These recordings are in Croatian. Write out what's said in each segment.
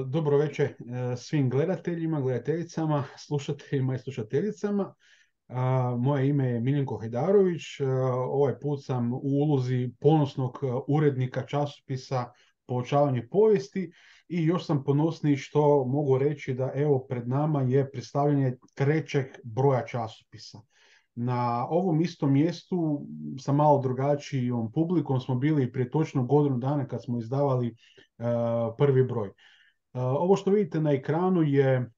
Dobro večer svim gledateljima, gledateljicama, slušateljima i slušateljicama. Moje ime je Miljenko Hajdarović. Ovaj put sam u ulozi ponosnog urednika časopisa Poučavanje povijesti i još sam ponosniji što mogu reći da evo pred nama je predstavljanje trećeg broja časopisa. Na ovom istom mjestu sa malo drugačijom publikom smo bili prije točno godinu dana kad smo izdavali prvi broj. Ovo što vidite na ekranu je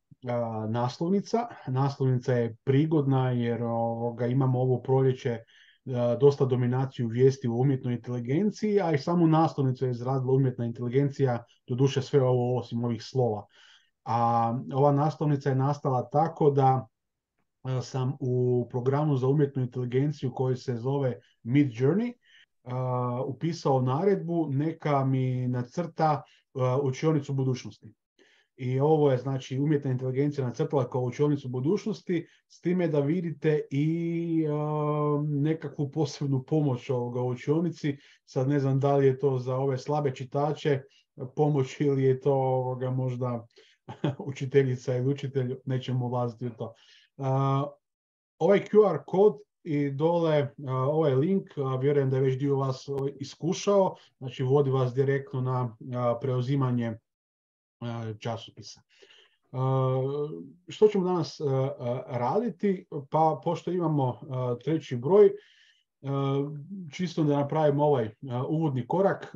naslovnica. Naslovnica je prigodna jer imamo ovo proljeće dosta dominaciju vijesti u umjetnoj inteligenciji, a i samu naslovnicu je izradila umjetna inteligencija, doduše sve ovo osim ovih slova. A ova naslovnica je nastala tako da sam u programu za umjetnu inteligenciju koji se zove Midjourney upisao naredbu neka mi nacrta učionicu budućnosti. I ovo je znači umjetna inteligencija nacrtala kao učionicu budućnosti, s time da vidite i nekakvu posebnu pomoć ovoga u učionici. Sad ne znam da li je to za ove slabe čitače pomoć ili je to možda učiteljica ili učitelj, nećemo ulaziti u to. Ovaj QR kod i dole ovaj link, vjerujem da je već dio vas iskušao, znači vodi vas direktno na preuzimanje časopisa. Što ćemo danas raditi? Pa pošto imamo treći broj, čisto da napravimo ovaj uvodni korak,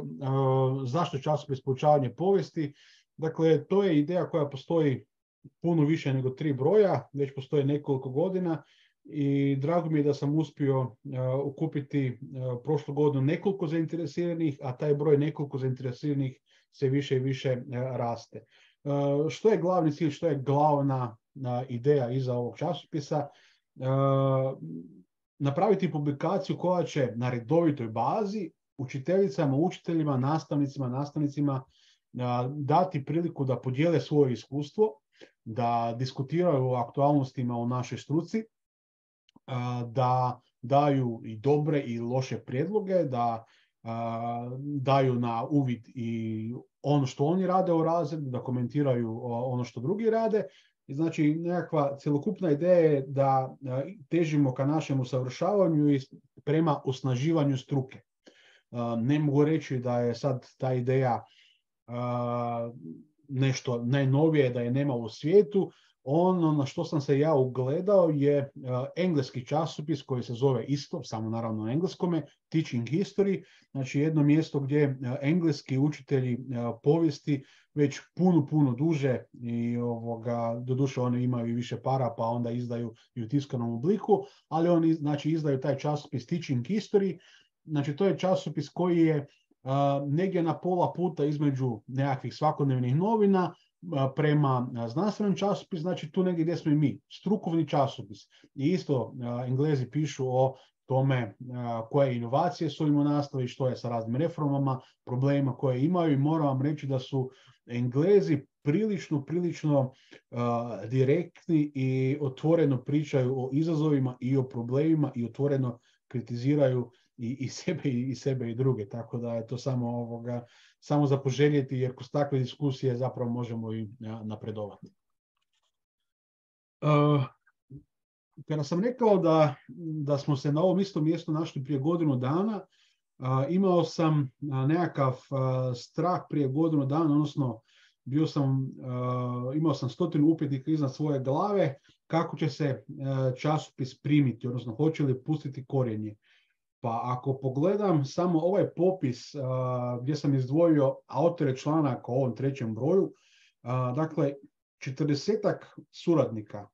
zašto časopis Poučavanje povijesti? Dakle, to je ideja koja postoji puno više nego 3 broja, već postoje nekoliko godina i drago mi je da sam uspio okupiti prošlu godinu nekoliko zainteresiranih, a taj broj nekoliko zainteresiranih sve više i više raste. Što je glavni cilj, što je glavna ideja iza ovog časopisa? Napraviti publikaciju koja će na redovitoj bazi učiteljicama, učiteljima, nastavnicima dati priliku da podijele svoje iskustvo, da diskutiraju o aktualnostima u našoj struci, da daju i dobre i loše prijedloge, da daju na uvid i ono što oni rade u razredu, da komentiraju ono što drugi rade. I znači nekakva cjelokupna ideja je da težimo ka našem usavršavanju i prema osnaživanju struke. Ne mogu reći da je sad ta ideja nešto najnovije, da je nema u svijetu. Ono na što sam se ja ugledao je engleski časopis koji se zove isto, samo naravno na engleskome, Teaching History, znači jedno mjesto gdje engleski učitelji povijesti već puno duže i doduše oni imaju i više para pa onda izdaju i u tiskanom obliku, ali oni znači izdaju taj časopis Teaching History. Znači to je časopis koji je negdje na pola puta između nekakvih svakodnevnih novina prema znanstvenom časopisu, znači tu negdje gdje smo i mi, strukovni časopis. I isto Englezi pišu o tome koje inovacije su im u nastavi, što je sa raznim reformama, problemima koje imaju i moram vam reći da su Englezi prilično direktni i otvoreno pričaju o izazovima i o problemima i otvoreno kritiziraju i sebe i druge, tako da je to samo za poželjeti, jer kroz takve diskusije zapravo možemo i napredovati. Kada sam rekao da smo se na ovom istom mjestu našli prije godinu dana, imao sam nekakav strah prije godinu dana, odnosno imao sam 100 upitnika iznad svoje glave kako će se časopis primiti, odnosno hoće li pustiti korijenje. Pa ako pogledam samo ovaj popis gdje sam izdvojio autore članaka o ovom trećem broju, dakle 40-ak suradnika,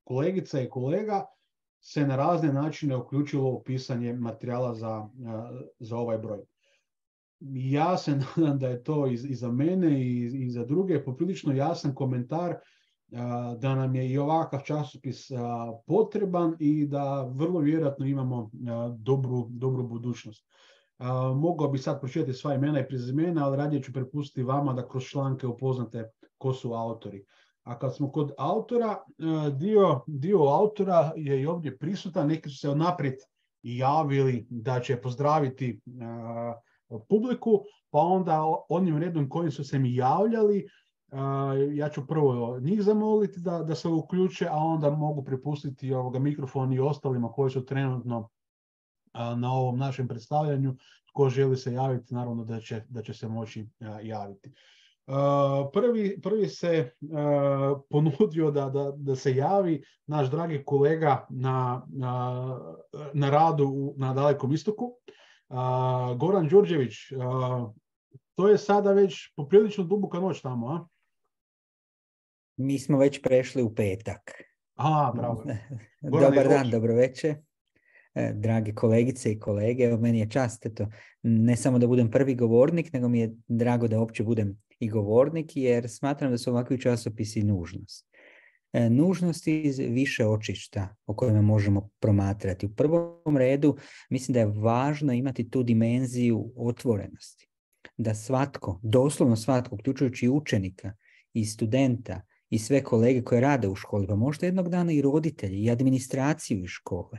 kolegica i kolega se na razne načine uključilo u pisanje materijala za ovaj broj. Ja se nadam da je to i za mene i za druge poprilično jasan komentar da nam je i ovakav časopis potreban i da vrlo vjerojatno imamo dobru budućnost. Mogao bi sad pročitati sva imena i prezimena, ali radije ću prepustiti vama da kroz članke upoznate ko su autori. A kad smo kod autora, dio autora je i ovdje prisutan, neki su se unaprijed i javili da će pozdraviti publiku, pa onda onim redom kojim su se mi javljali, ja ću prvo njih zamoliti da se uključe, a onda mogu prepustiti mikrofon i ostalima koji su trenutno na ovom našem predstavljanju. Tko želi se javiti, naravno da će se moći javiti. Prvi se ponudio da se javi naš dragi kolega na radu na Dalekom istoku, Goran Đurđević. To je sada već poprilično duboka noć tamo, a? Mi smo već prešli u petak. Bravo. Dobar dan, dobro večer. Drage kolegice i kolege, evo meni je čast ne samo da budem prvi govornik, nego mi je drago da uopće budem i govornik, jer smatram da su ovakvi časopisi nužnost. Nužnost iz više očišta o kojima možemo promatrati. U prvom redu mislim da je važno imati tu dimenziju otvorenosti. Da svatko, doslovno svatko, uključujući učenika i studenta i sve kolege koje rade u školi, pa možda jednog dana i roditelji i administraciju iz škole,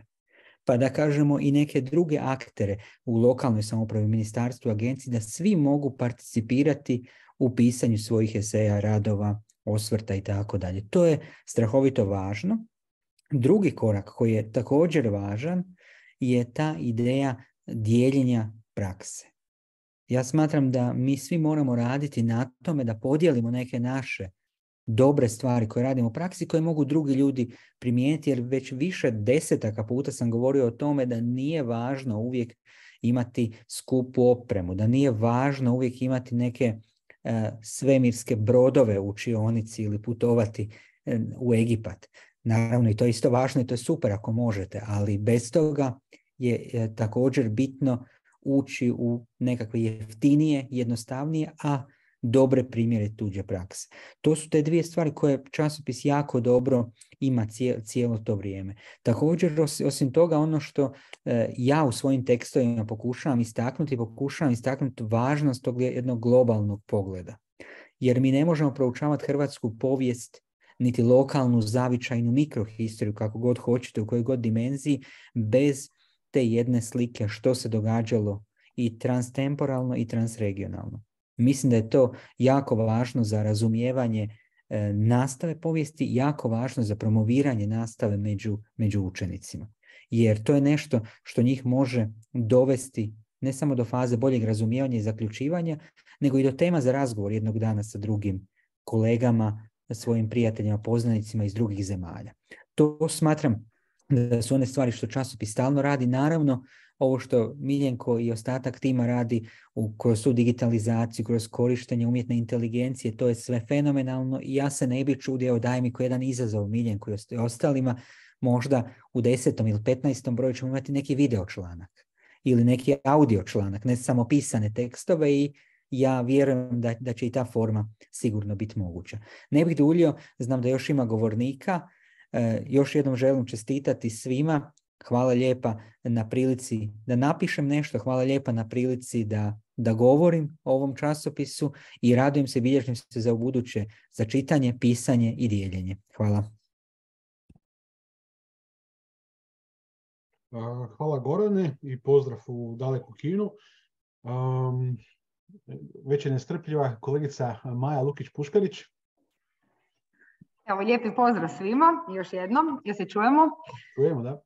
pa da kažemo i neke druge aktere u lokalnoj samoupravi, ministarstvu, agenciji, da svi mogu participirati u pisanju svojih eseja, radova, osvrta i tako dalje. To je strahovito važno. Drugi korak koji je također važan je ta ideja dijeljenja prakse. Ja smatram da mi svi moramo raditi na tome da podijelimo neke naše dobre stvari koje radimo u praksi, koje mogu drugi ljudi primijeniti, jer već više desetaka puta sam govorio o tome da nije važno uvijek imati skupu opremu, da nije važno uvijek imati neke svemirske brodove u učionici ili putovati u Egipat. Naravno, i to je isto važno i to je super ako možete, ali bez toga je također bitno ući u nekakve jeftinije, jednostavnije, a dobre primjere tuđe prakse. To su te dvije stvari koje časopis jako dobro ima cijelo to vrijeme. Također, osim toga, ono što ja u svojim tekstovima pokušavam istaknuti važnost tog jednog globalnog pogleda. Jer mi ne možemo proučavati hrvatsku povijest, niti lokalnu, zavičajnu mikrohistoriju, kako god hoćete, u kojoj god dimenziji, bez te jedne slike što se događalo i transtemporalno i transregionalno. Mislim da je to jako važno za razumijevanje nastave povijesti, jako važno za promoviranje nastave među učenicima. Jer to je nešto što njih može dovesti ne samo do faze boljeg razumijevanja i zaključivanja, nego i do tema za razgovor jednog dana sa drugim kolegama, svojim prijateljima, poznanicima iz drugih zemalja. To smatram da su one stvari što časopis stalno radi. Naravno, ovo što Miljenko i ostatak tima radi kroz tu digitalizaciju, kroz korištenje umjetne inteligencije, to je sve fenomenalno i ja se ne bih čudio, daj mi ko jedan izazov Miljenku i ostalima, možda u 10. ili 15. broju ćemo imati neki video članak ili neki audio članak, ne samo pisane tekstove, i ja vjerujem da će i ta forma sigurno biti moguća. Ne bih duljio, znam da još ima govornika. Još jednom želim čestitati svima. Hvala lijepa na prilici da napišem nešto, hvala lijepa na prilici da govorim o ovom časopisu i radujem se, bilježim se za ubuduće, za čitanje, pisanje i dijeljenje. Hvala. Hvala Gorane i pozdrav u daleku Kinu. Već je nestrpljiva kolegica Maja Lukić-Puškarić. Evo, lijepi pozdrav svima, još jednom, jel se čujemo? Čujemo, da.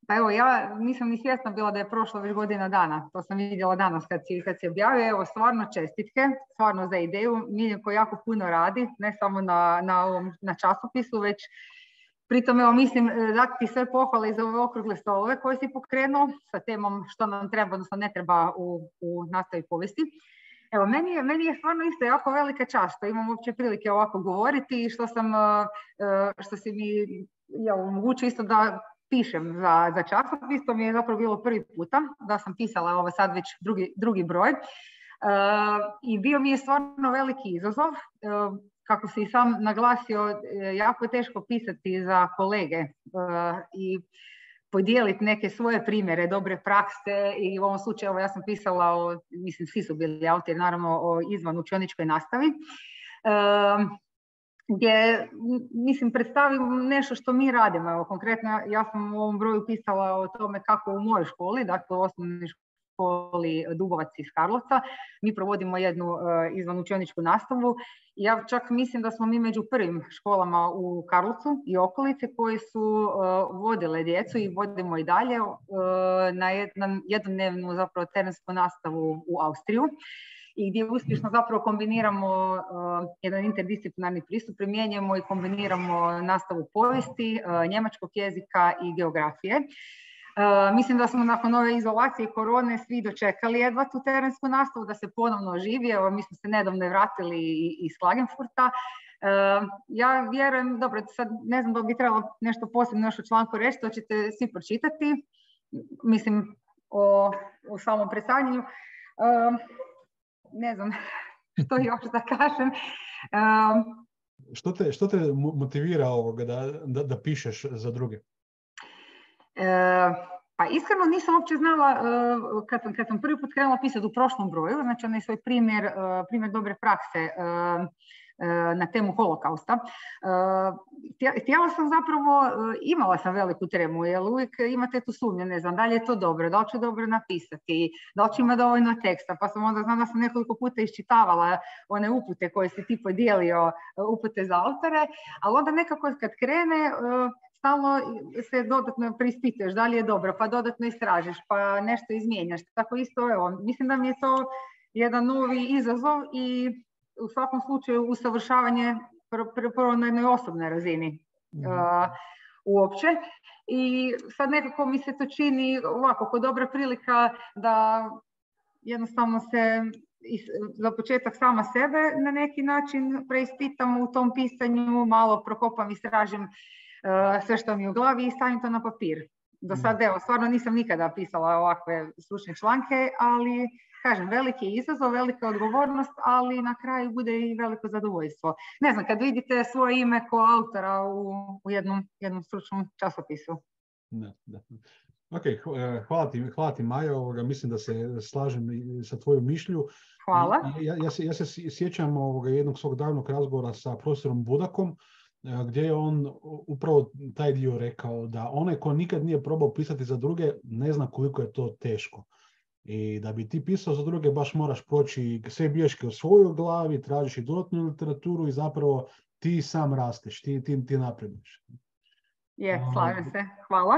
Pa evo, ja nisam ni svjesna bila da je prošlo već godina dana, to sam vidjela danas kad se objavio. Evo, stvarno čestitke, stvarno za ideju. Miljenko jako puno radi, ne samo na časopisu, već pritom, evo, mislim dati ti sve pohvale za ove okrugle stolove koje si pokrenuo sa temom što nam treba, odnosno ne treba u nastavi povijesti. Evo, meni je stvarno isto jako velika čast što imam uopće prilike ovako govoriti i što si mi omogućio isto da pišem za časopis. To mi je zapravo bilo prvi puta da sam pisala ovo sad već drugi broj. I bio mi je stvarno veliki izazov. Kako si i sam naglasio, jako je teško pisati za kolege i podijeliti neke svoje primjere dobre prakse, i u ovom slučaju ja sam pisala mislim svi su bili autori naravno, o izvan učioničkoj nastavi, gdje mislim predstavim nešto što mi radimo. Evo, konkretno ja sam u ovom broju pisala o tome kako u mojoj školi, dakle u osnovnoj školi Dubovac iz Karlovca. Mi provodimo jednu izvanučioničku nastavu. Ja čak mislim da smo mi među prvim školama u Karlovcu i okolice koji su vodile djecu i vodimo i dalje na jednodnevnu zapravo terensku nastavu u Austriju, i gdje uspješno zapravo kombiniramo jedan interdisciplinarni pristup, primjenjujemo i kombiniramo nastavu povijesti, njemačkog jezika i geografije. Mislim da smo nakon ove izolacije i korone svi dočekali jedva tu terensku nastavu, da se ponovno oživi. Evo, mi smo se nedavno vratili iz Klagenfurta. Ja vjerujem, dobro, sad ne znam da bi trebalo nešto posebno još u članku reći, to ćete svi pročitati, mislim o samom predstavljanju. Ne znam što još da kažem. Što te motivira ovoga da pišeš za druge? Pa iskreno nisam uopće znala kad sam prvi put krenula pisati u prošlom broju, znači onaj svoj primjer dobre prakse na temu holokausta. Htjela sam zapravo, imala sam veliku tremu, jer uvijek imate tu sumnju, ne znam, da li je to dobro, da li ću dobro napisati, da li ću ima dovoljno teksta, pa sam onda znam da sam nekoliko puta iščitavala one upute koje si ti podijelio, upute za autore, ali onda nekako kad krene, stalno se dodatno preispituješ da li je dobro, pa dodatno istražiš, pa nešto izmijenjaš. Tako isto, evo, mislim da mi je to jedan novi izazov i u svakom slučaju usavršavanje prvo na jednoj osobnoj razini uopće. I sad nekako mi se to čini ovako, kao dobra prilika da jednostavno se za početak sama sebe na neki način preispitam u tom pisanju, malo prokopam, istražim sve što mi je u glavi i stavim to na papir. Do sad, evo, stvarno nisam nikada pisala ovakve stručne članke, ali kažem, veliki izazov, velika odgovornost, ali na kraju bude i veliko zadovoljstvo. Ne znam, kad vidite svoje ime kao autora u jednom stručnom časopisu. Da. Ok, hvala ti Majo, mislim da se slažem sa tvojom mišlju. Hvala. Ja se sjećam jednog svog davnog razgovora sa profesorom Budakom, gdje je on upravo taj dio rekao da onaj ko nikad nije probao pisati za druge ne zna koliko je to teško. I da bi ti pisao za druge baš moraš proći sve bilješke u svojoj glavi, tražiš i dodatnu literaturu i zapravo ti sam rasteš, ti napreduješ. Slažem se. Hvala.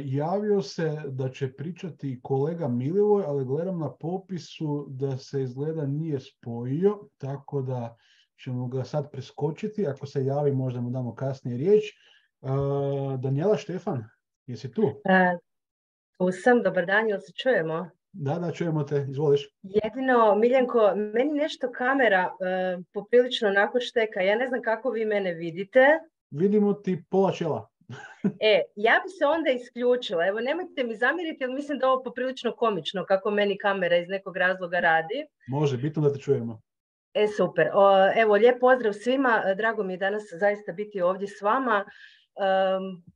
Javio se da će pričati kolega Milivoj, ali gledam na popisu da se izgleda nije spojio, tako da ćemo ga sad preskočiti. Ako se javi, možda mu damo kasnije riječ. Daniela Štefan, jesi tu? Tu sam, dobar dan, jel se čujemo? Da, čujemo te, izvoliš. Jedino, Miljenko, meni nešto kamera poprilično onako šteka. Ja ne znam kako vi mene vidite. Vidimo ti pola čela. Ja bi se onda isključila. Evo, nemojte mi zamjeriti, jer mislim da je ovo poprilično komično kako meni kamera iz nekog razloga radi. Može, bitno da te čujemo. Super. Evo, lijep pozdrav svima. Drago mi je danas zaista biti ovdje s vama.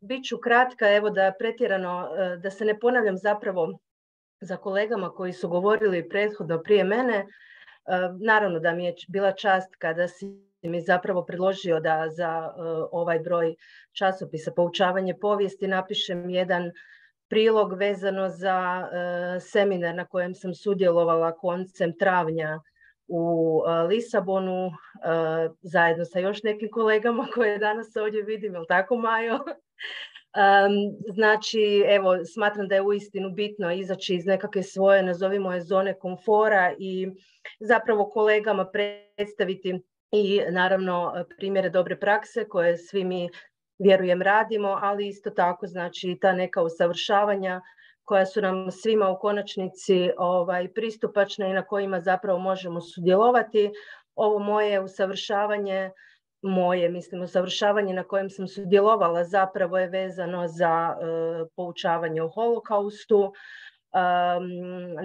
Biću kratka, evo da pretjerano, da se ne ponavljam zapravo za kolegama koji su govorili prethodno prije mene. Naravno da mi je bila čast kada si mi zapravo predložio da za ovaj broj časopisa Poučavanje povijesti napišem jedan prilog vezano za seminar na kojem sam sudjelovala koncem travnja u Lisabonu, zajedno sa još nekim kolegama koje danas ovdje vidim, jel tako, Majo? Znači, evo, smatram da je uistinu bitno izaći iz nekakve svoje, nazovimo je, zone komfora i zapravo kolegama predstaviti i naravno primjere dobre prakse koje svi mi, vjerujem, radimo, ali isto tako, znači, ta neka usavršavanja koja su nam svima u konačnici pristupačna i na kojima zapravo možemo sudjelovati. Ovo moje usavršavanje, usavršavanje na kojem sam sudjelovala zapravo je vezano za poučavanje o holokaustu.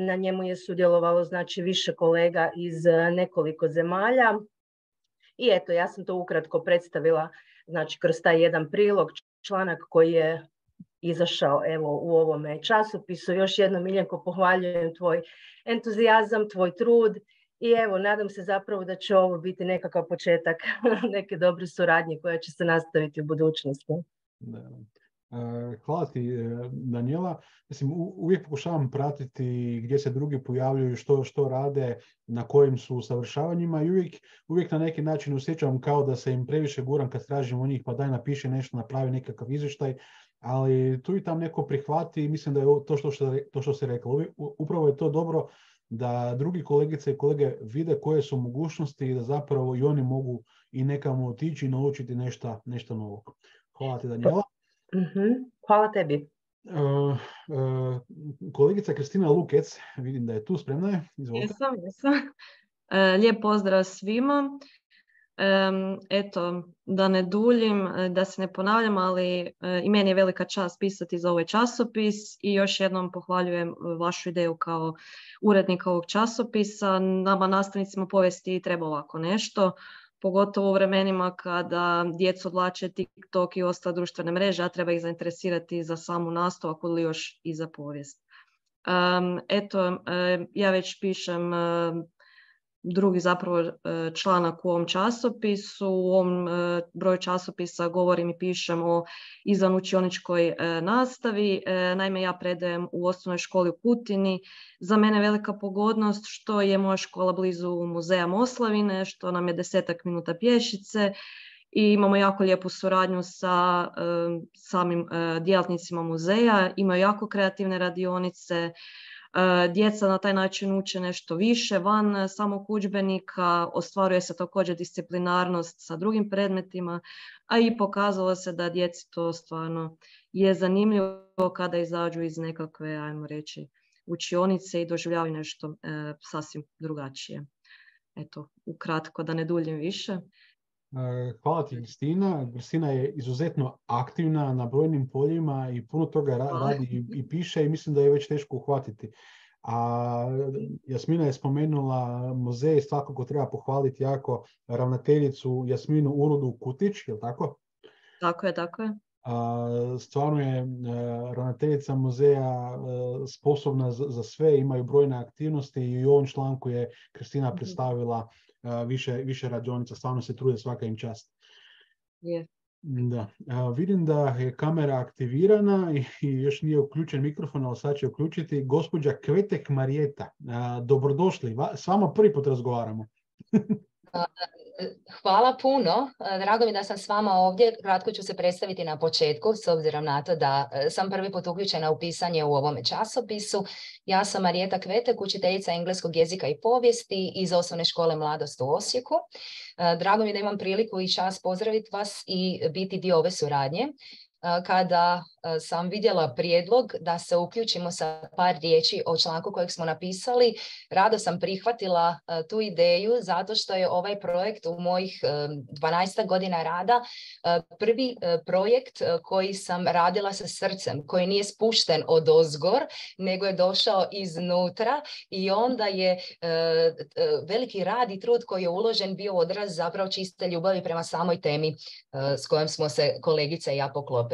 Na njemu je sudjelovalo, znači, više kolega iz nekoliko zemalja. I eto, ja sam to ukratko predstavila, znači, kroz taj jedan prilog, članak koji je izašao evo u ovome časopisu. Još jednom, Miljenko, pohvaljujem tvoj entuzijazam, tvoj trud i evo, nadam se zapravo da će ovo biti nekakav početak neke dobre suradnje koja će se nastaviti u budućnosti. Hvala ti, Danijela. Mislim, uvijek pokušavam pratiti gdje se drugi pojavljuju, što rade, na kojim su usavršavanjima i uvijek na neki način osjećam kao da se im previše guram kad tražim od njih, pa daj napiši nešto, napravi nekakav izvještaj, ali tu i tam neko prihvati i mislim da je to što se rekla. Upravo je to dobro da drugi kolegice i kolege vide koje su mogućnosti i da zapravo i oni mogu i nekamo otići i naučiti nešto novo. Hvala ti, Danijela. Hvala tebi. Kolegica Kristina Lukec, vidim da je tu, spremna je. Izvolite. Jesam. Lijep pozdrav svima. Eto, da ne duljim, da se ne ponavljam, ali i meni je velika čast pisati za ovaj časopis i još jednom pohvaljujem vašu ideju kao urednika ovog časopisa. Nama, nastavnicima povijesti, treba ovako nešto, pogotovo u vremenima kada djecu odvlače TikTok i ostale društvene mreže, a treba ih zainteresirati za samu nastavu, ako li još i za povijest. Eto, ja već pišem drugi zapravo članak u ovom časopisu. U ovom broju časopisa govorim i pišem o izvanučioničkoj nastavi. Naime, ja predajem u osnovnoj školi u Kutini. Za mene je velika pogodnost što je moja škola blizu muzeja Moslavine, što nam je 10 minuta pješice i imamo jako lijepu suradnju sa samim djelatnicima muzeja. Imaju jako kreativne radionice. Djeca na taj način uče nešto više van samog udžbenika, ostvaruje se također disciplinarnost sa drugim predmetima, a i pokazalo se da djeci to stvarno je zanimljivo kada izađu iz nekakve, ajmo reći, učionice i doživljavaju nešto sasvim drugačije. Eto, ukratko, da ne duljim više. Hvala ti, Kristina. Kristina je izuzetno aktivna na brojnim poljima i puno toga radi i piše i mislim da je već teško uhvatiti. A Jasmina je spomenula muzej, svakako treba pohvaliti jako ravnateljicu Jasminu Urudu Kutić, je li tako? Tako je. Stvarno je ravnateljica muzeja sposobna za sve, imaju brojne aktivnosti i u ovom članku je Kristina predstavila više radionica, stvarno se trude, svaka im čast. Yeah. Da. Vidim da je kamera aktivirana i još nije uključen mikrofon, ali sad će uključiti. Gospođa Kvetek Marijeta, dobrodošli, s vama prvi put razgovaramo. Hvala puno, drago mi da sam s vama ovdje. Kratko ću se predstaviti na početku, s obzirom na to da sam prvi put uključena u pisanje u ovome časopisu. Ja sam Marijeta Kvetek, učiteljica engleskog jezika i povijesti iz Osnovne škole Mladost u Osijeku. Drago mi je da imam priliku i čast pozdraviti vas i biti dio ove suradnje. Kada sam vidjela prijedlog da se uključimo sa par riječi o članku kojeg smo napisali, rado sam prihvatila tu ideju zato što je ovaj projekt u mojih 12 godina rada prvi projekt koji sam radila sa srcem, koji nije spušten odozgor, nego je došao iznutra i onda je veliki rad i trud koji je uložen bio odraz zapravo čiste ljubavi prema samoj temi s kojom smo se kolegice i ja poklopile.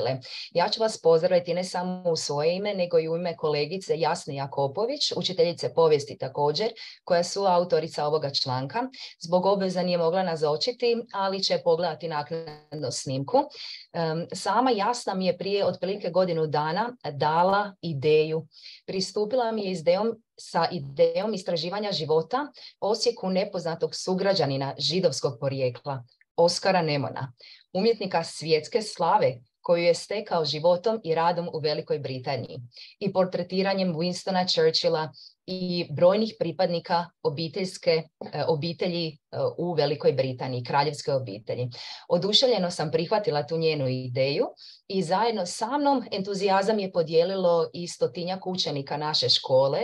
Ja ću vas pozdraviti ne samo u svoje ime, nego i u ime kolegice Jasne Jakopović, učiteljice povijesti također, koja je suautorica ovoga članka. Zbog obveza nije mogla nazočiti, ali će pogledati naknadno snimku. Sama Jasna mi je prije otprilike godinu dana dala ideju. Pristupila mi je sa idejom istraživanja života Osijeku nepoznatog sugrađanina židovskog porijekla, Oskara Nemona, umjetnika svjetske slave, koju je stekao životom i radom u Velikoj Britaniji i portretiranjem Winstona Churchilla i brojnih pripadnika obitelji u Velikoj Britaniji, kraljevske obitelji. Oduševljeno sam prihvatila tu njenu ideju i zajedno sa mnom entuzijazam je podijelilo i 100-tinjak učenika naše škole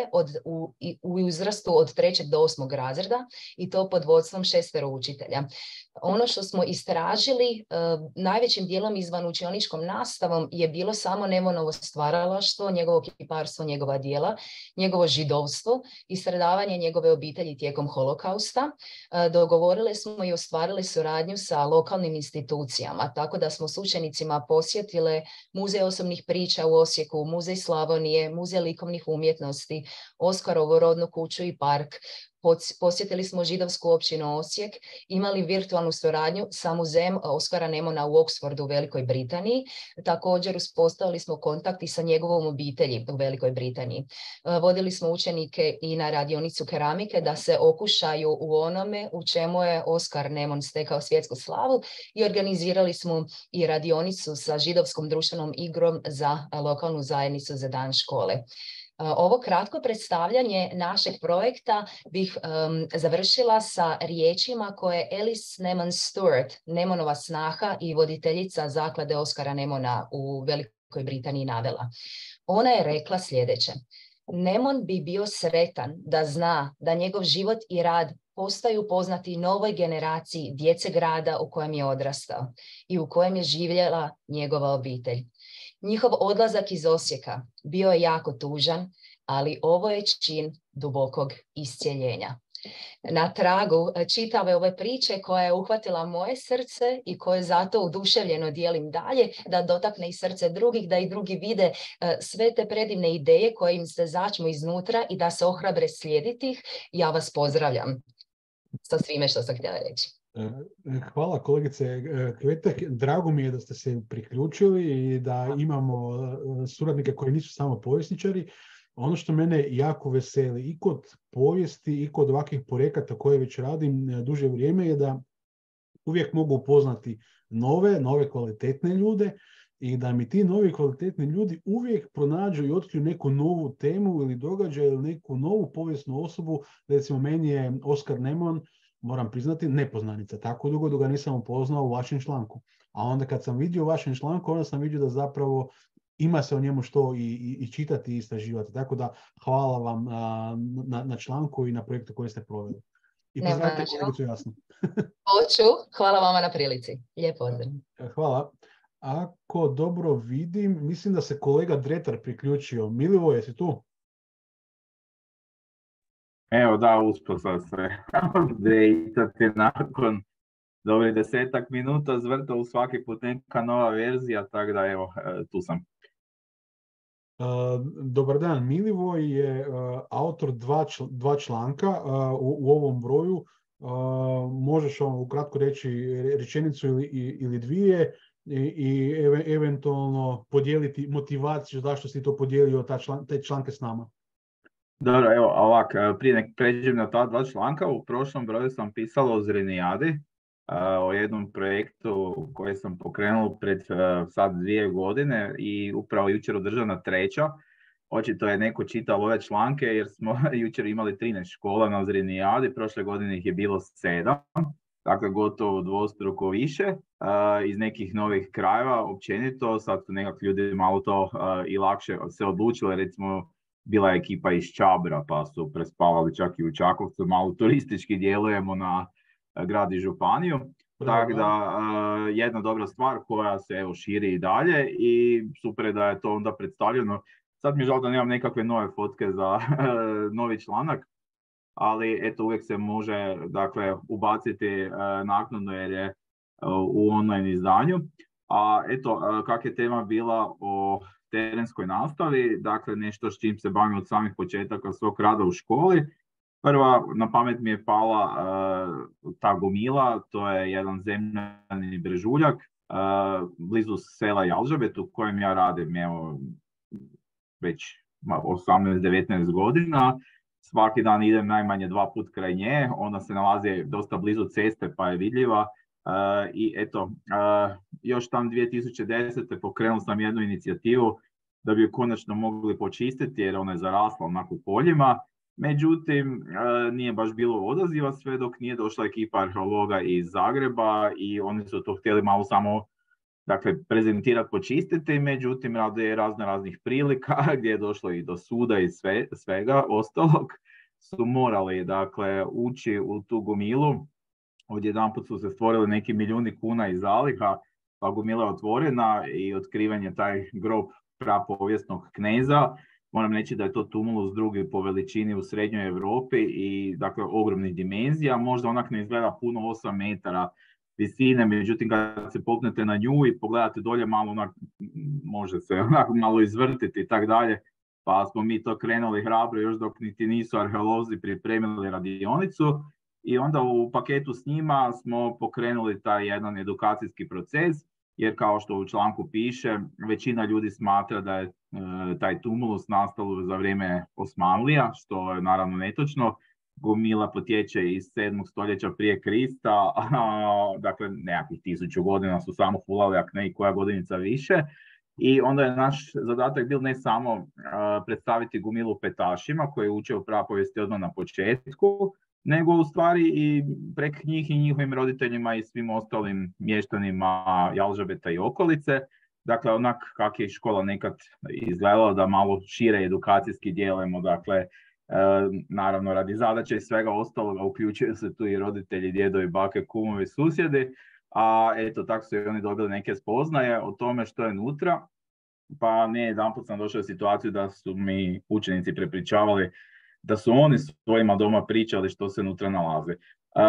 u uzrastu od 3. do 8. razreda i to pod vodstvom 6 učitelja. Ono što smo istražili najvećim dijelom izvanučioničkom nastavom je bilo samo Nemonovo stvaralaštvo, njegovo kiparstvo, njegova djela, njegovo židovstvo i stradavanje njegove obitelji tijekom holokausta. Dogovorile smo i ostvarile suradnju sa lokalnim institucijama, tako da smo s učenicima posjetile Muzej osobnih priča u Osijeku, Muzej Slavonije, Muzej likovnih umjetnosti, Oskarovu rodnu kuću i park, Posjetili smo židovsku općinu Osijek, imali virtualnu suradnju sa muzejem Oskara Nemona u Oxfordu u Velikoj Britaniji. Također uspostavili smo kontakt i sa njegovom obitelji u Velikoj Britaniji. Vodili smo učenike i na radionicu keramike da se okušaju u onome u čemu je Oskar Nemon stekao svjetsku slavu i organizirali smo i radionicu sa židovskom društvenom igrom za lokalnu zajednicu za dan škole. Ovo kratko predstavljanje našeg projekta bih završila sa riječima koje Alice Nemon Stewart, Nemonova snaha i voditeljica zaklade Oskara Nemona u Velikoj Britaniji navela. Ona je rekla sljedeće: Nemon bi bio sretan da zna da njegov život i rad postaju poznati novoj generaciji djece grada u kojem je odrastao i u kojem je živjela njegova obitelj. Njihov odlazak iz Osijeka bio je jako tužan, ali ovo je čin dubokog iscjeljenja. Na tragu čitave ove priče koja je uhvatila moje srce i koje zato oduševljeno dijelim dalje, da dotakne i srce drugih, da i drugi vide sve te predivne ideje koje im se začnu iznutra i da se ohrabre slijediti ih, ja vas pozdravljam sa svime što sam htjela reći. Hvala kolegice Kvetek, drago mi je da ste se priključili i da imamo suradnike koji nisu samo povjesničari. Ono što mene jako veseli i kod povijesti i kod ovakvih projekata koje već radim duže vrijeme je da uvijek mogu upoznati nove kvalitetne ljude i da mi ti novi kvalitetni ljudi uvijek pronađu i otkriju neku novu temu ili događaj ili neku novu povijesnu osobu. Recimo meni je Oskar Nemon, moram priznati, nepoznanica. Tako dugo dok ga nisam upoznao u vašem članku. A onda kad sam vidio u vašem članku, onda sam vidio da zapravo ima se o njemu što i čitati i istraživati. Tako da hvala vam na članku i na projektu koji ste proveli. I pozdravite kolegicu Jasnu. Hoću, hvala vama na prilici. Lijep pozdrav. Hvala. Ako dobro vidim, mislim da se kolega Dretar priključio. Milivoje, jesi tu? Evo da, uspio sam se updateati nakon dobrih 10 minuta, zvrta u svaki put neka nova verzija, tako da evo, tu sam. Dobar dan, Milivoj je autor dva članka u ovom broju. Možeš ukratko reći rečenicu ili dvije i eventualno podijeliti motivaciju zašto si to podijelio te članke s nama. Dobro, evo ovak, prije nek pređem na ta dva članka, u prošlom broju sam pisalo o Zrenijadi, o jednom projektu koji sam pokrenuo pred sad 2 godine i upravo jučer održana 3. Očito je neko čitao ove članke jer smo jučer imali 13 škola na Zrenijadi, prošle godine ih je bilo 7, dakle gotovo dvostruko više, iz nekih novih krajeva općenito, sad su nekak ljudi malo to i lakše se odlučili, recimo bila je ekipa iz Čabra pa su prespavali čak i u Čakovcu, malo turistički djelujemo na grad i županiju. Tako da jedna dobra stvar koja se evo širi i dalje i super je da je to onda predstavljeno. Sad mi je žao da nemam nekakve nove fotke za novi članak, ali eto uvijek se može dakle ubaciti naknadno jer je u online izdanju. A eto kak je tema bila o terenskoj nastavi, dakle nešto s čim se bavim od samih početaka svog rada u školi. Prva na pamet mi je pala ta Gomila, to je jedan zemljani brežuljak blizu sela Jalžabet u kojem ja radim evo, već 18-19 godina. Svaki dan idem najmanje 2 puta kraj nje, ona se nalazi dosta blizu ceste pa je vidljiva. I eto, još tam 2010. pokrenuo sam jednu inicijativu da bi ju konačno mogli počistiti jer ona je zarasla onako u poljima. Međutim, nije baš bilo odaziva sve dok nije došla ekipa arheologa iz Zagreba i oni su to htjeli malo samo dakle, prezentirati, počistiti, međutim radi raznih prilika gdje je došlo i do suda i svega ostalog su morali dakle, ući u tu Gomilu. Odjedanput su se stvorili neki milijuni kuna iz zaliha, pa Gomila je otvorena i otkrivanje taj grob prapovijesnog kneza. Moram reći da je to tumulus drugi po veličini u srednjoj Europi i dakle ogromnih dimenzija. Možda onak ne izgleda puno 8 metara visine, međutim kad se popnete na nju i pogledate dolje malo onak, može se onak malo izvrtiti i tak dalje. pa smo mi to krenuli hrabro još dok niti nisu arheolozi pripremili radionicu i onda u paketu s njima smo pokrenuli taj jedan edukacijski proces, jer kao što u članku piše, većina ljudi smatra da je taj tumulus nastalo za vrijeme Osmanlija, što je naravno netočno. Gomila potječe iz 7. stoljeća prije Krista, dakle nekakvih 1000 godina su samo fulali, ako ne i koja godinica više. I onda je naš zadatak bil ne samo predstaviti Gomilu petašima koji uče u prapovijesti odmah na početku, nego u stvari i prek njih i njihovim roditeljima i svim ostalim mještanima Jalžabeta i okolice. Dakle, onak kak je škola nekad izgledala, da malo šire edukacijski djelujemo, dakle, naravno radi zadaće i svega ostaloga uključuju se tu i roditelji, djedovi, bake, kumovi, susjedi, a eto tako su i oni dobili neke spoznaje o tome što je nutra, pa ne jedanput sam došao u situaciju da su mi učenici prepričavali da su oni svojima doma pričali što se nutra nalazi.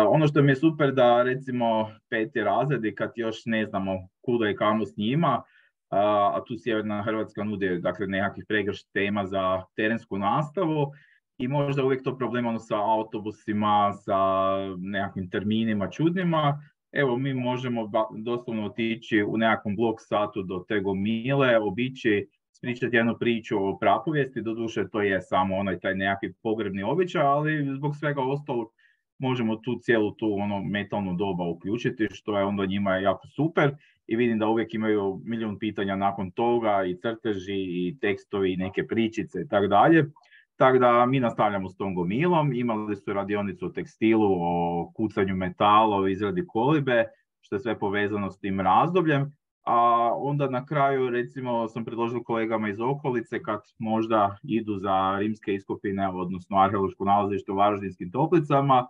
Ono što mi je super da recimo 5. razredi kad još ne znamo kuda i kamo s njima, a tu Sjeverna Hrvatska nudi dakle, nekakvih pregršt tema za terensku nastavu i možda uvijek to problem sa autobusima, sa nekakvim terminima čudnima. Evo, mi možemo doslovno otići u nekakvom blok satu do te Gomile, obići, pričati jednu priču o prapovijesti, doduše to je samo onaj taj nekakvi pogrebni običaj, ali zbog svega ostalog možemo tu cijelu tu metalnu doba uključiti, što je onda njima jako super i vidim da uvijek imaju milijun pitanja nakon toga i crteži i tekstovi i neke pričice i tako dalje. Tako da mi nastavljamo s tom Gomilom, imali su radionicu o tekstilu, o kucanju metala, o izradi kolibe, što je sve povezano s tim razdobljem. A onda na kraju, recimo, sam predložio kolegama iz okolice kad možda idu za rimske iskopine, odnosno arheološko nalazište u Varaždinskim Toplicama,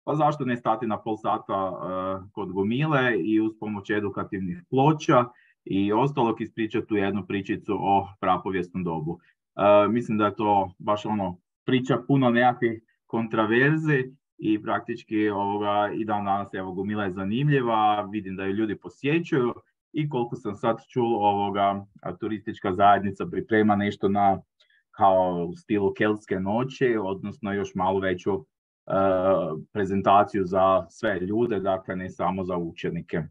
pa zašto ne stati na pol sata kod Gomile i uz pomoć edukativnih ploča i ostalog ispričati tu jednu pričicu o prapovijesnom dobu. Mislim da je to baš priča puno nekakvih kontraverzi i praktički i dan danas Gomila je zanimljiva, vidim da ju ljudi posjećuju i koliko sam sad čuo turistička zajednica priprema nešto kao u stilu keltske noći, odnosno još malo veću prezentaciju za sve ljude, dakle ne samo za učenike.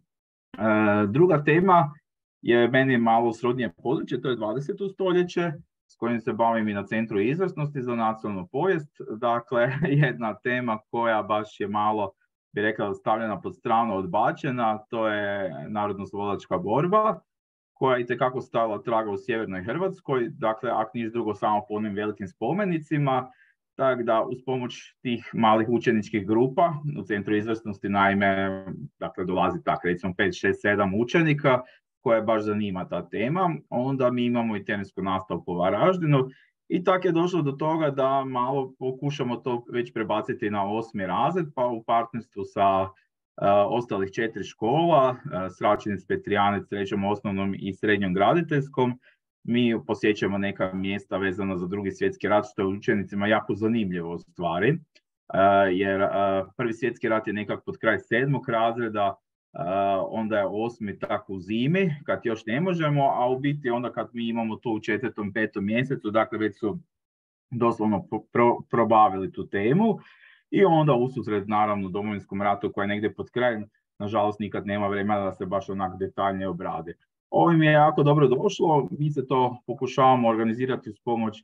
Druga tema je meni malo srodnije područje, to je 20. stoljeće, s kojim se bavim i na Centru izvrsnosti za nacionalnu povijest. Dakle, jedna tema koja baš je malo, bi rekao, stavljena pod stranu, odbačena, to je narodno-oslobodilačka borba, koja je itekako stavila traga u Sjevernoj Hrvatskoj, dakle, ako niš drugo samo po onim velikim spomenicima, tako da uz pomoć tih malih učeničkih grupa u Centru izvrsnosti, naime, dakle, dolazi tako, recimo 5, 6, 7 učenika, koja baš zanima ta tema. Onda mi imamo i terensku nastavu po Varaždinu i tako je došlo do toga da malo pokušamo to već prebaciti na 8. razred, pa u partnerstvu sa ostalih 4 škola, Sračinec, Petrijanec, 3. osnovnom i srednjom graditeljskom, mi posjećamo neka mjesta vezana za Drugi svjetski rat, što je učenicima jako zanimljivo u stvari, jer Prvi svjetski rat je nekako pod kraj 7. razreda, onda je 8. tako u zimi, kad još ne možemo, a u biti onda kad mi imamo to u 4., 5. mjesecu, dakle već su doslovno probavili tu temu i onda ususret naravno Domovinskom ratu koji je negdje pod krajem, nažalost nikad nema vremena da se baš onak detaljnije obradi. Ovim je jako dobro došlo, mi se to pokušavamo organizirati uz pomoć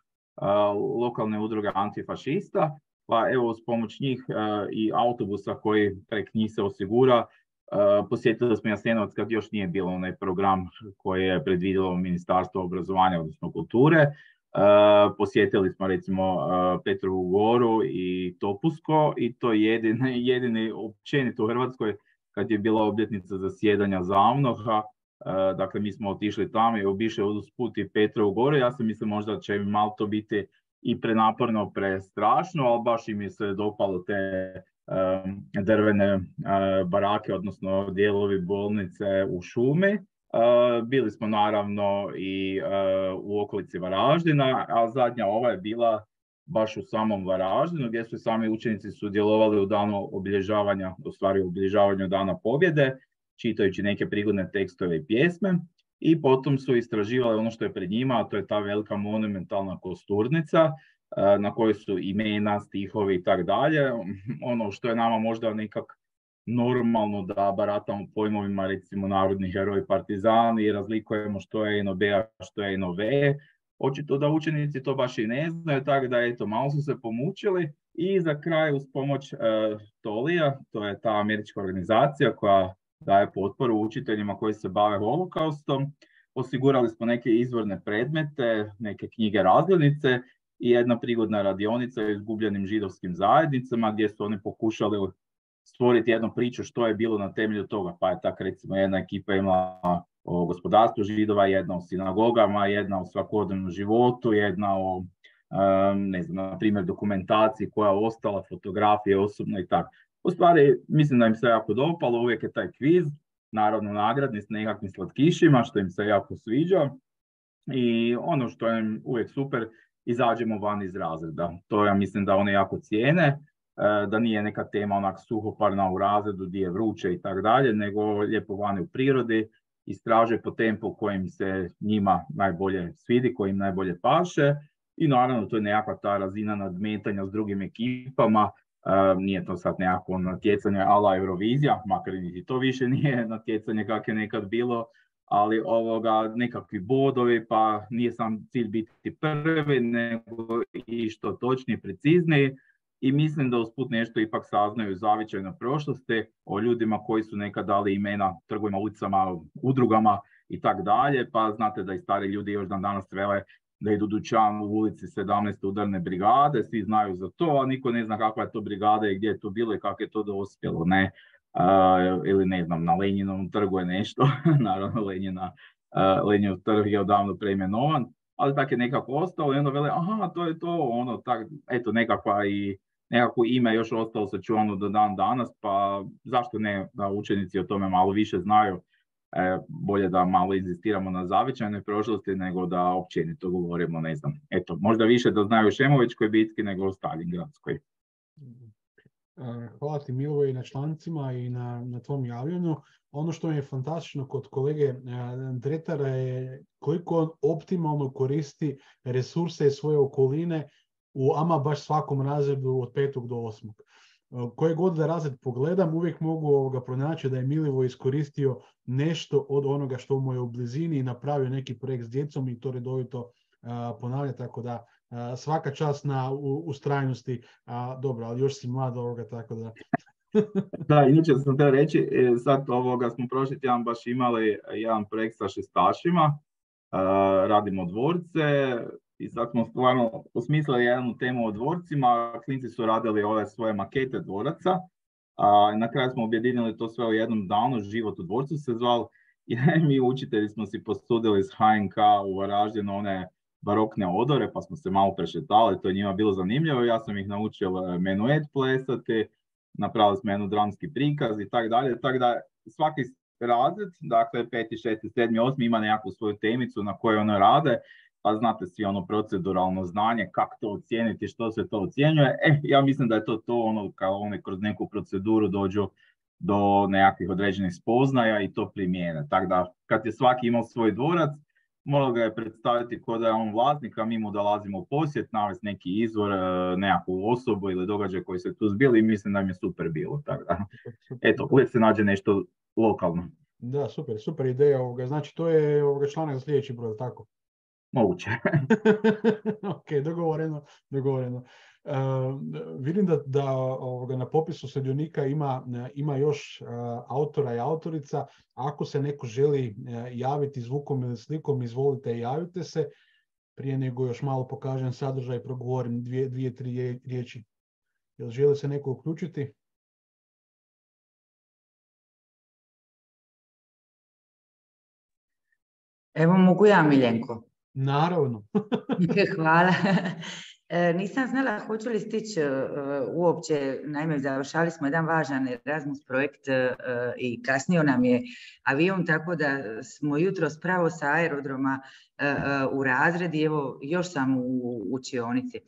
lokalne udruge antifašista, pa evo uz pomoć njih i autobusa koji prek njih se osigura. Posjetili smo Jasenovac kad još nije bilo onaj program koji je predvidjelo Ministarstvo obrazovanja, odnosno kulture. Posjetili smo recimo Petrovu Goru i Topusko i to je jedini općenito u Hrvatskoj kad je bila obljetnica zasjedanja ZAVNOH-a. Dakle, mi smo otišli tamo i obišli usput i Petrovu Goru. Ja sam mislim možda će malo to biti i prenaporno, prestrašno, ali baš im je se dopalo te drvene barake, odnosno dijelovi bolnice u šumi. Bili smo naravno i u okolici Varaždina, a zadnja ova je bila baš u samom Varaždinu, gdje su sami učenici sudjelovali u danu obilježavanja, u stvari u obilježavanju Dana pobjede, čitajući neke prigodne tekstove i pjesme. i potom su istraživali ono što je pred njima, a to je ta velika monumentalna kosturnica na kojoj su imena, stihovi i tak dalje. Ono što je nama možda nekak normalno da baratamo pojmovima, recimo narodni heroj, partizani i razlikujemo što je NOB, a što je NOV. Očito da učenici to baš i ne znaju, tako da eto, malo su se pomučili i za kraj uz pomoć TOLI-a, to je ta američka organizacija koja daje potporu učiteljima koji se bave holokaustom, osigurali smo neke izvorne predmete, neke knjige razglednice i jedna prigodna radionica o izgubljenim židovskim zajednicama gdje su oni pokušali stvoriti jednu priču što je bilo na temelju toga, pa je tako recimo jedna ekipa imala o gospodarstvu židova, jedna o sinagogama, jedna o svakodnevnom životu, jedna o, ne znam, na primjer dokumentaciji koja je ostala, fotografije osobno i tako. U stvari, mislim da im se jako dopalo, uvijek je taj kviz, naravno nagradni s nekakvim slatkišima, što im se jako sviđa. I ono što je uvijek super, izađemo van iz razreda. To ja mislim da oni jako cijene, da nije neka tema onak suhoparna u razredu gdje je vruće i tako dalje, nego lijepo vani u prirodi, istraže po tempu kojim se njima najbolje svidi, kojim najbolje paše i naravno to je nekakva ta razina nadmetanja s drugim ekipama, nije to sad nekako natjecanje ala Eurovizija, makar i to više nije natjecanje kako je nekad bilo, ali nekakvi bodovi, pa nije sam cilj biti prvi, nego i što točnije, precizniji. I mislim da usput nešto ipak saznaju zavičajno prošlosti o ljudima koji su nekad dali imena trgovima, ulicama, udrugama i tak dalje. Pa znate da i stari ljudi još dan danas vele da idu dućan u ulici 17. udarne brigade, svi znaju za to, a niko ne zna kakva je to brigada i gdje je to bilo i kako je to dospjelo, ne? Ili ne znam, na Lenjinovom trgu je nešto, naravno Lenjinov trg je odavno preimenovan, ali tako je nekako ostalo i onda vele, aha, to je to, eto nekako ime još ostalo sačuvano do dan danas, pa zašto ne da učenici o tome malo više znaju, bolje da malo inzistiramo na zavičajnoj prošlosti nego da općenito govorimo, ne znam, eto, možda više da znaju o Šemovićkoj bitki nego o Stalingradskoj. Hvala ti Milivoje i na člancima i na tvom javljanju. Ono što mi je fantastično kod kolege Dretara je koliko on optimalno koristi resurse svoje okoline u ama baš svakom razredu od 5. do 8. Koje god da razred pogledam, uvijek mogu pronaći da je Milivoje iskoristio nešto od onoga što mu je u blizini i napravio neki projekt s djecom i to redovito ponavlja, tako da svaka čast na ustrajnosti, dobro, ali još si mlad tako da... Da, inače sam te reći, sad smo prošli tjedan baš imali jedan projekt sa šestašima, radimo dvorce i sad smo stvarno osmislili jednu temu o dvorcima, klinci su radili ove svoje makete dvoraca, na kraju smo objedinili to sve u jednom danu, Život u dvorcu se zvao, i mi učitelji smo si posudili s HNK u Varaždinu one barokne odore, pa smo se malo prešetali, to je njima bilo zanimljivo, ja sam ih naučio menuet plesati, napravili smo jedan dramski prikaz i tako dalje, tako da svaki razred, dakle 5., 6., 7., 8. ima nekakvu svoju temicu na kojoj ono rade, pa znate svi ono proceduralno znanje, kako to ocijeniti, što se to ocjenjuje. Ja mislim da je to kao oni kroz neku proceduru dođu do nekakvih određenih spoznaja i to primijene. Tako da kad je svaki imao svoj dvorac, moralo ga je predstaviti kao da je on vlasnik, a mi mu dolazimo u posjet, navesti neki izvor, nekakvu osobu ili događaj koji se tu zbili i mislim da mi je super bilo. Tako da, eto, uvijek se nađe nešto lokalno. Da, super ideja. Znači, to je članak za sljedeći broj, tako? Moguće. Ok, dogovoreno. Vidim da na popisu sudionika ima još autora i autorica. Ako se neko želi javiti zvukom ili slikom, izvolite, javite se. Prije nego još malo pokažem sadržaj i progovorim 2-3 riječi. Jel želi se neko uključiti? Evo, mogu ja, Miljenko? Naravno. Hvala. Nisam znala hoću li stići uopće, naime završali smo jedan važan Erasmus projekt i kasnio nam je avion, tako da smo jutros pravo sa aerodroma u razredi, evo još sam u učionici.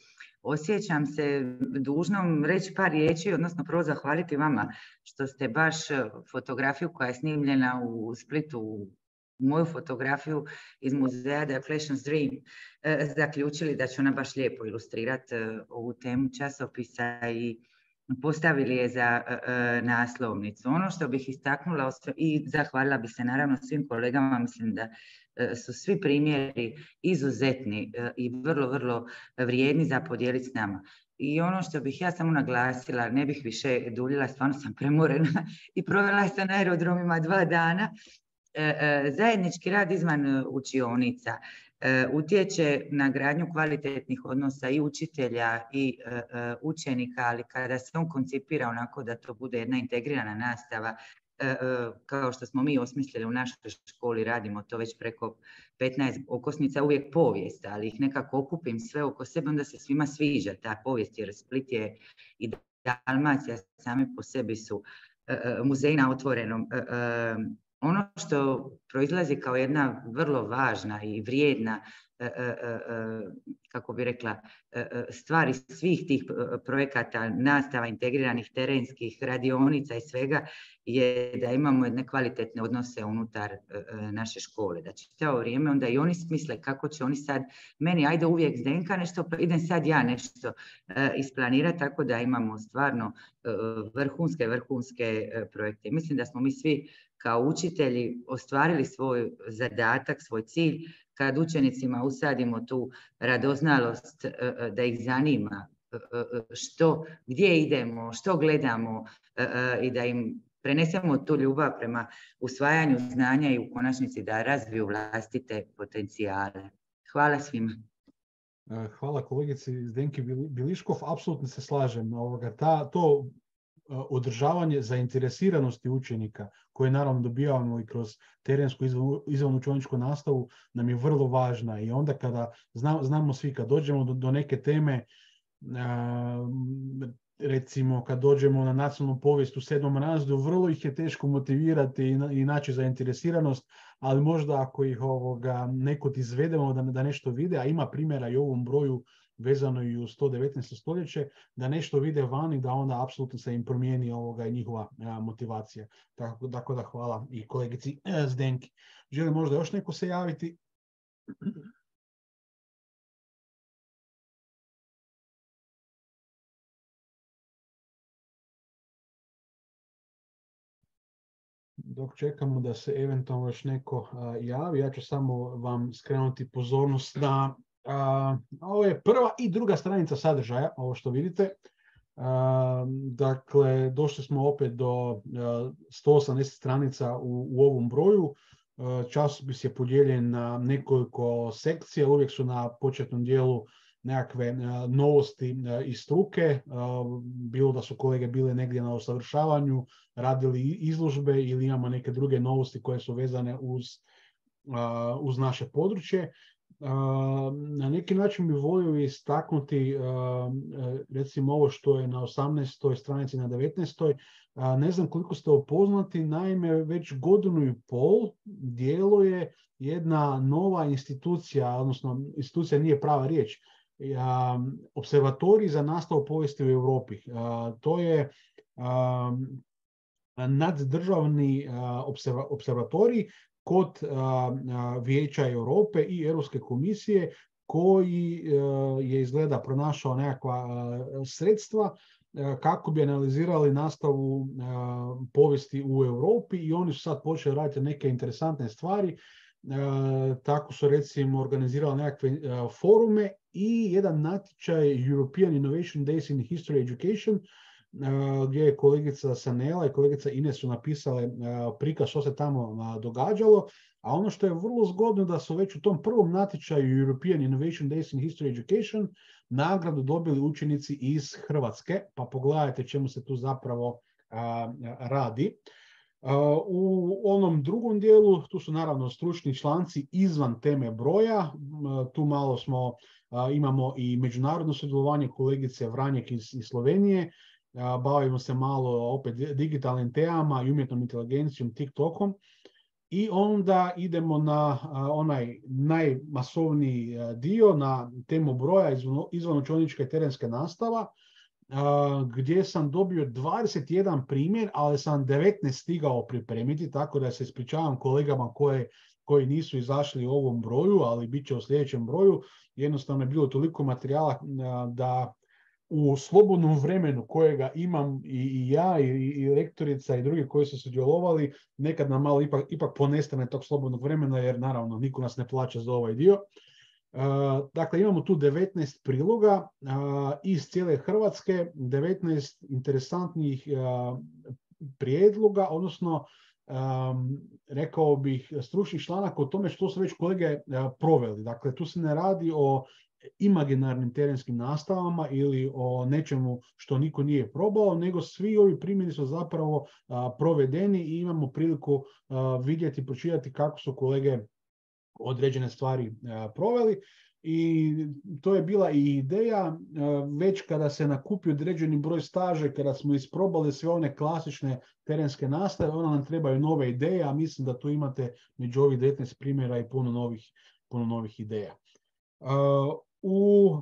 Osjećam se dužnom reći par riječi, odnosno prvo zahvaliti vama što ste baš fotografiju koja je snimljena u Splitu moju fotografiju iz muzeja The Flashion Dream zaključili da će ona baš lijepo ilustrirati ovu temu časopisa i postavili je za naslovnicu. Ono što bih istaknula i zahvalila bi se naravno svim kolegama, mislim da su svi primjeri izuzetni i vrlo, vrlo vrijedni za podijeliti s nama. I ono što bih ja samo naglasila, ne bih više duljila, stvarno sam premorena i provela sam na aerodromima 2 dana, zajednički rad izvan učionica utječe na gradnju kvalitetnih odnosa i učitelja i učenika, ali kada se on koncipira onako da to bude jedna integrirana nastava, kao što smo mi osmislili u našoj školi, radimo to već preko 15 okosnica, uvijek povijest, ali ih nekako okupim sve oko sebe, onda se svima sviđa ta povijest, jer Split je i Dalmacija same po sebi su muzeji na otvorenom. Ono što proizlazi kao jedna vrlo važna i vrijedna, kako bi rekla, stvari svih tih projekata, nastava, integriranih terenskih radionica i svega, je da imamo jedne kvalitetne odnose unutar naše škole. Da čitavo vrijeme onda i oni smisle kako će oni sad, meni ajde uvijek Zdenka nešto, pa idem sad ja nešto isplanirati, tako da imamo stvarno vrhunske projekte. Mislim da smo mi svi kao učitelji ostvarili svoj zadatak, svoj cilj, kad učenicima usadimo tu radoznalost da ih zanima gdje idemo, što gledamo i da im prenesemo tu ljubav prema usvajanju znanja i u konačnici da razviju vlastite potencijale. Hvala svima. Hvala kolegici Zdenki Biliškov, apsolutno se slažem. To održavanje zainteresiranosti učenika, koje naravno dobijamo i kroz terensku izvanučeničku nastavu, nam je vrlo važna. I onda kada znamo svi, kad dođemo do neke teme, recimo kad dođemo na nacionalnu povijest u 7. razredu, vrlo ih je teško motivirati i naći zainteresiranost, ali možda ako ih nekod izvedemo da nešto vide, a ima primjera i u ovom broju vezano i u 119. stoljeće, da nešto vide vani, da onda apsolutno se im promijeni njihova motivacija. Tako da hvala i kolegici Zdenki. Želi možda još neko se javiti? Dok čekamo da se eventualno još neko javi, ja ću samo vam skrenuti pozornost na ovo je prva i druga stranica sadržaja, ovo što vidite. Dakle, došli smo opet do 180 stranica u ovom broju. Časopis je podijeljen na nekoliko sekcija, uvijek su na početnom dijelu nekakve novosti iz struke, bilo da su kolege bile negdje na usavršavanju, radili izložbe ili imamo neke druge novosti koje su vezane uz naše područje. Na neki način bi volio istaknuti recimo ovo što je na 18. stranici, na 19. Ne znam koliko ste upoznati, naime već 1.5 godine djeluje jedna nova institucija, odnosno institucija nije prava riječ, Observatorij za nastavu povijesti u Europi. To je naddržavni observatorij kod Vijeća Europe i Europske komisije, koji je izgleda pronašao nekakva sredstva kako bi analizirali nastavu povijesti u Europi, i oni su sad počeli raditi neke interesantne stvari. Tako su recimo organizirali nekakve forume i jedan natječaj European Innovation Days in History Education, gdje je kolegica Sanela i kolegica Ines su napisale prikaz što se tamo događalo, a ono što je vrlo zgodno da su već u tom prvom natječaju European Innovation Days in History Education nagradu dobili učenici iz Hrvatske, pa pogledajte čemu se tu zapravo radi. U onom drugom dijelu tu su naravno stručni članci izvan teme broja, tu malo imamo i međunarodno sudjelovanje kolegice Vranjek iz Slovenije, bavimo se malo opet digitalnim temama i umjetnom inteligencijom, TikTokom, i onda idemo na onaj najmasovniji dio, na temu broja, izvanučenička i terenska nastava, gdje sam dobio 21 primjer, ali sam 19 stigao pripremiti, tako da se ispričavam kolegama koje koji nisu izašli u ovom broju, ali bit će u sljedećem broju. Jednostavno je bilo toliko materijala da u slobodnom vremenu kojega imam i ja i lektorica i drugi koji su sudjelovali, nekad nam malo ipak ponestane tog slobodnog vremena, jer naravno niko nas ne plaća za ovaj dio. Dakle, imamo tu 19 priloga iz cijele Hrvatske, 19 interesantnih prijedloga, odnosno rekao bih stručnih članaka o tome što su već kolege proveli. Dakle, tu se ne radi o imaginarnim terenskim nastavama ili o nečemu što niko nije probao, nego svi ovi primjeri su zapravo provedeni i imamo priliku vidjeti, pročitati kako su kolege određene stvari proveli. I to je bila i ideja, već kada se nakupi određeni broj staže, kada smo isprobali sve one klasične terenske nastave, onda nam trebaju nove ideje, a mislim da tu imate među ovih 19 primjera i puno novih ideja. U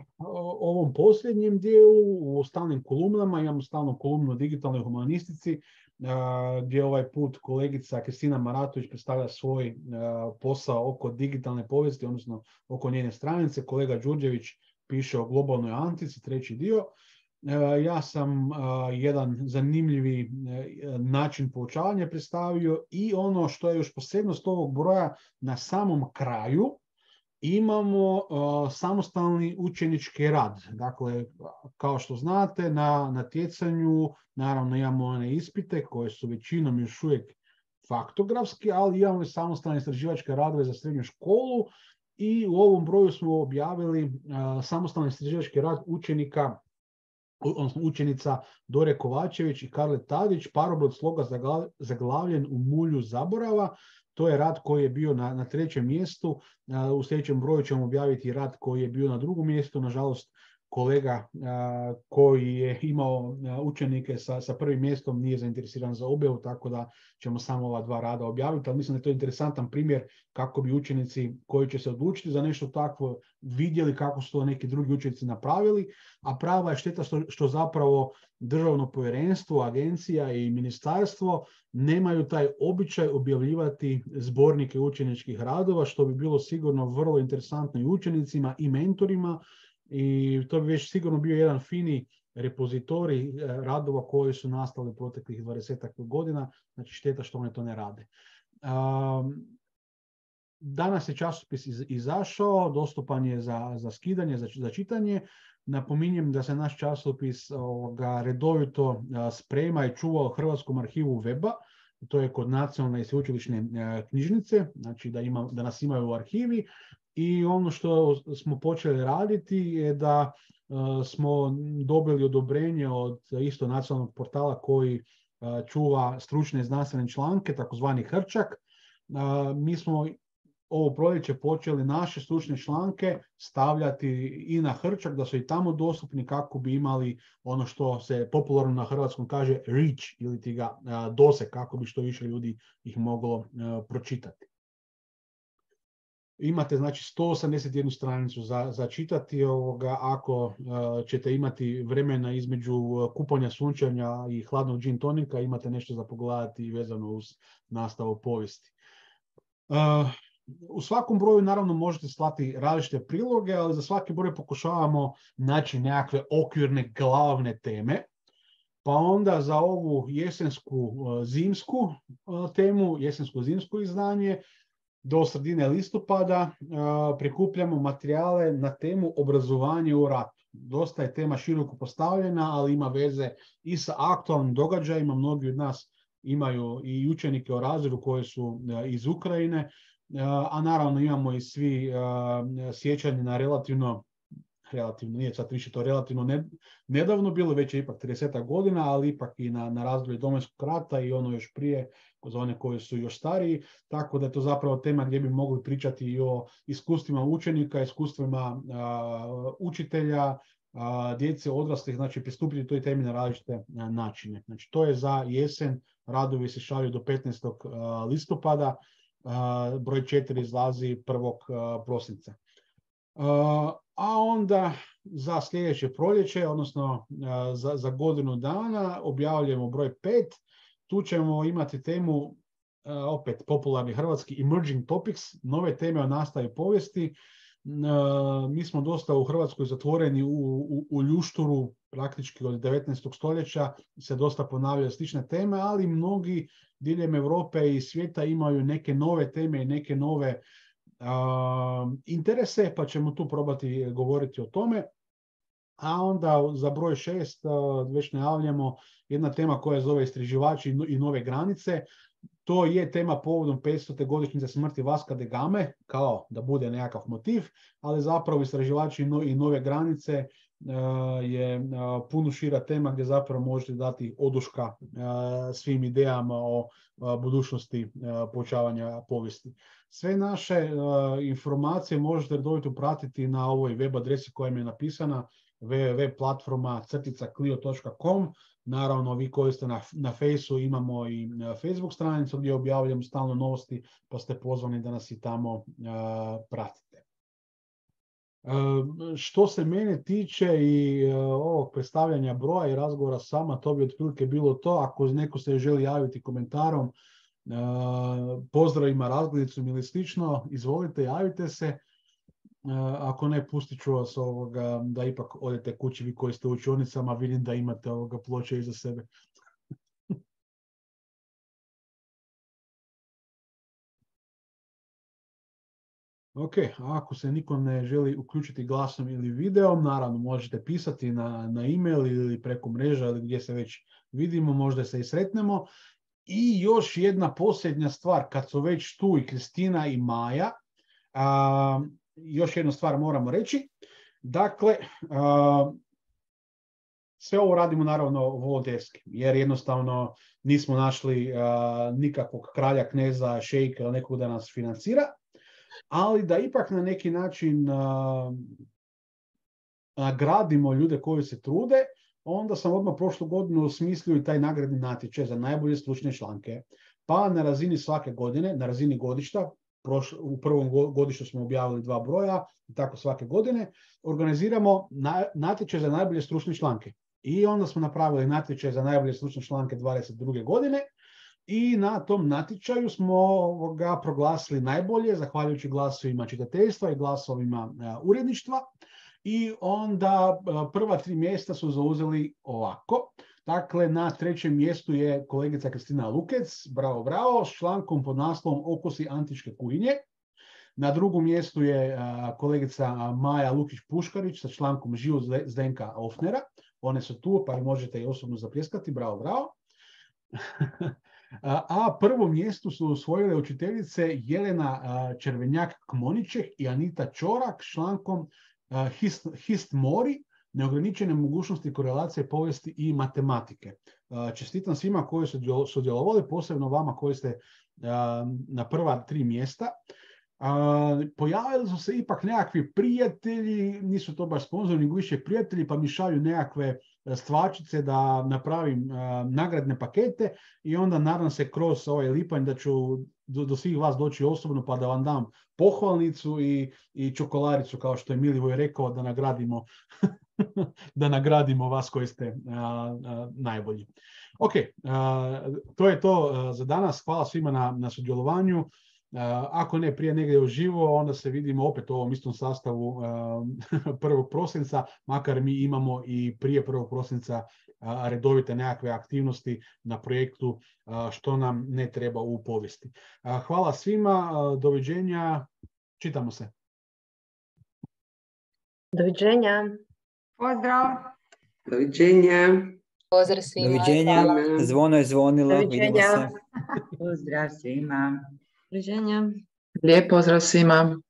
ovom posljednjem dijelu, u stalnim kolumnama, imamo stalnu kolumnu o digitalnoj humanistici, gdje ovaj put kolegica Kristina Maratović predstavlja svoj posao oko digitalne povijesti, odnosno oko njene stranice. Kolega Đurđević piše o globalnoj antici, treći dio. Ja sam jedan zanimljivi način poučavanja predstavio i ono što je još posebnost ovog broja, na samom kraju imamo samostalni učenički rad. Dakle, kao što znate, na natjecanju naravno imamo one ispite koje su većinom još uvijek faktografski, ali imamo i samostalne istraživačke radove za srednju školu i u ovom broju smo objavili samostalni istraživački rad učenica Dore Kovačević i Karle Tadić, Parobrod sloga zaglavljen u mulju zaborava. To je rad koji je bio na trećem mjestu. U sljedećem broju ćemo objaviti rad koji je bio na drugom mjestu. Nažalost, kolega koji je imao učenike sa prvim mjestom nije zainteresiran za objavu, tako da ćemo samo ova dva rada objaviti. Ali mislim da je to interesantan primjer kako bi učenici koji će se odlučiti za nešto takvo vidjeli kako su to neki drugi učenici napravili. A prava je šteta što zapravo državno povjerenstvo, agencija i ministarstvo nemaju taj običaj objavljivati zbornike učeničkih radova, što bi bilo sigurno vrlo interesantno i učenicima i mentorima. I to bi već sigurno bio jedan fini repozitorij radova koji su nastali proteklih 20 godina, znači šteta što oni to ne rade. Danas je časopis izašao, dostupan je za skidanje, za čitanje. Napominjem da se naš časopis redovito sprema i čuva u Hrvatskom arhivu weba, to je kod Nacionalne i sveučilišne knjižnice, znači da nas imaju u arhivi. I ono što smo počeli raditi je da smo dobili odobrenje od isto nacionalnog portala koji čuva stručne znanstvene članke, takozvani Hrčak. Mi smo ovo proljeće počeli naše stručne članke stavljati i na Hrčak, da su i tamo dostupni kako bi imali ono što se popularno na hrvatskom kaže reach, ili ti ga doseg, kako bi što više ljudi ih moglo pročitati. Imate znači 181 stranicu za čitati. Ako ćete imati vremena između kupanja sunčanja i hladnog gin tonika, imate nešto za pogledati vezano uz nastavu povijesti. U svakom broju naravno možete slati različite priloge, ali za svaki broj pokušavamo naći nekakve okvirne glavne teme. Pa onda za ovu jesensku-zimsku temu, jesensko-zimsko izdanje, do sredine listopada prikupljamo materijale na temu obrazovanje u ratu. Dosta je tema široko postavljena, ali ima veze i sa aktualnim događajima. Mnogi od nas imaju i učenike o razredu koji su iz Ukrajine, a naravno imamo i svi sjećanje na relativno, nije sad više to relativno nedavno bilo, već je ipak 30 godina, ali ipak i na razdoblje Domovinskog rata i ono još prije, za one koji su još stariji, tako da je to zapravo tema gdje bi mogli pričati i o iskustvima učenika, iskustvima učitelja, djece, odraslih, znači pristupiti toj temi na različite načine. Znači to je za jesen, radovi se šalju do 15. listopada, broj 4 izlazi 1. prosinca. A onda za sljedeće proljeće, odnosno za godinu dana, objavljujemo broj 5. Tu ćemo imati temu opet popularni hrvatski emerging topics, nove teme o nastavi povijesti. Mi smo dosta u Hrvatskoj zatvoreni u ljušturu, praktički od 19. stoljeća se dosta ponavljaju slične teme, ali mnogi diljem Europe i svijeta imaju neke nove teme i neke nove interese, pa ćemo tu probati govoriti o tome. A onda za broj 6 već najavljamo jedna tema koja zove istraživači i nove granice. To je tema povodom 500. godišnjice smrti Vasca da Game, kao da bude nekakav motiv, ali zapravo istraživači i nove granice je puno šira tema gdje zapravo možete dati oduška svim idejama o budućnosti poučavanja povijesti. Sve naše informacije možete redovito pratiti na ovoj web adresi koja mi je napisana, www.platforma-clio.com. Naravno, vi koji ste na Fejsu, imamo i Facebook stranicu gdje objavljamo stalno novosti, pa ste pozvani da nas i tamo pratite. Što se mene tiče i ovog predstavljanja broja i razgovora s vama, to bi otprilike bilo to. Ako neko se želi javiti komentarom, pozdravima, razgledicom ili slično, izvolite, javite se. Ako ne, pustit ću vas da ipak odete kući vi koji ste u učionicama, vidim da imate ploče iza sebe. Ok, ako se niko ne želi uključiti glasom ili videom, naravno možete pisati na e-mail ili preko mreža ili gdje se već vidimo, možda se i sretnemo. I još jedna posljednja stvar, kad su već tu i Kristina i Maja, još jednu stvar moramo reći. Dakle, sve ovo radimo naravno volonterski, jer jednostavno nismo našli nikakvog kralja, kneza, šejka ili nekog da nas financira, ali da ipak na neki način nagradimo ljude koji se trude, onda sam odmah prošlu godinu osmislio i taj nagradni natječaj za najbolje stručne članke. Pa na razini svake godine, na razini godišta, u prvom godištu smo objavili 2 broja, i tako svake godine, organiziramo natječaj za najbolje stručne članke. I onda smo napravili natječaj za najbolje stručne članke 22. godine i na tom natječaju smo ga proglasili najbolje, zahvaljujući glasovima čitateljstva i glasovima uredništva. I onda prva 3 mjesta su zauzeli ovako. Dakle, na 3. mjestu je kolegica Kristina Lukec, bravo, bravo, s člankom pod naslovom Okusi antičke kuhinje. Na 2. mjestu je kolegica Maja Lukić-Puškarić sa člankom Život Zdenka Ofnera. One su tu, pa možete i osobno zapljeskati, bravo, bravo. A prvo mjesto su osvojile učiteljice Jelena Červenjak-Kmoniček i Anita Čorak s člankom Hist Mori, neograničene mogućnosti korelacije povijesti i matematike. Čestitam svima koji su sudjelovali, posebno vama koji ste na prva 3 mjesta. Pojavili su se ipak nekakvi prijatelji, nisu to baš sponzori, nego više prijatelji, pa mi šalju nekakve stvarčice da napravim nagradne pakete i onda nadam se kroz ovaj lipanj da ću do svih vas doći osobno pa da vam dam pohvalnicu i čokoladicu, kao što je Milivoj rekao, da nagradimo da nagradimo vas koji ste najbolji. Ok, to je to za danas. Hvala svima na sudjelovanju. Ako ne prije negdje uživo, onda se vidimo opet u ovom istom sastavu 1. prosinca, makar mi imamo i prije 1. prosinca redovite nekakve aktivnosti na projektu Što nam ne treba u povijesti. Hvala svima, doviđenja, čitamo se. Doviđenja. Pozdrav. Doviđenja. Pozdrav svima. Doviđenja. Zvono je zvonilo. Vidimo se. Pozdrav svima. Doviđenja. Lijep pozdrav svima.